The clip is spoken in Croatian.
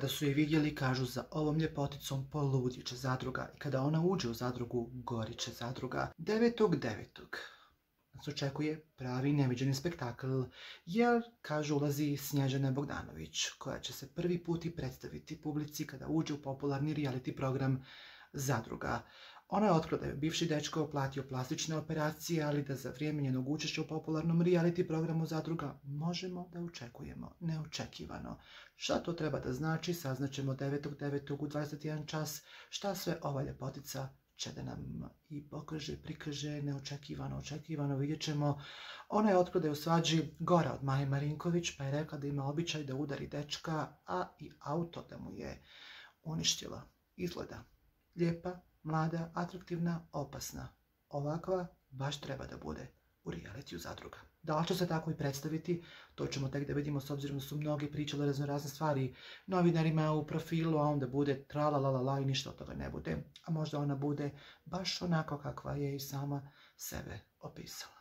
Kada su je vidjeli, kažu za ovom ljepoticom poludit će zadruga i kada ona uđe u zadrugu, gorit će zadruga. 9.9. nas očekuje pravi neviđeni spektakl, jer, kažu, ulazi Snježana Bogdanović, koja će se prvi put i predstaviti publici kada uđe u popularni reality program Zadruga. Ona je otkrila da je bivši dečko platio plastične operacije, ali da za vrijeme njenog učešća u popularnom reality programu Zadruga možemo da očekujemo neočekivano. Šta to treba da znači, saznaćemo 9.9. u 21 čas, šta sve ova ljepotica će da nam i pokaže, prikaže, neočekivano, očekivano, vidjet ćemo. Ona je otkrila da je u svađi gora od Maje Marinković, pa je rekla da ima običaj da udari dečka, a i auto da mu je uništila. Izgleda lijepa, mlada, atraktivna, opasna. Ovakva baš treba da bude u realitiju Zadruga. Da li će se tako i predstaviti, to ćemo tek da vidimo, s obzirom da su mnogi pričali razne stvari novinarima u profilu, a onda bude tralalalala i ništa od toga ne bude. A možda ona bude baš onako kakva je i sama sebe opisala.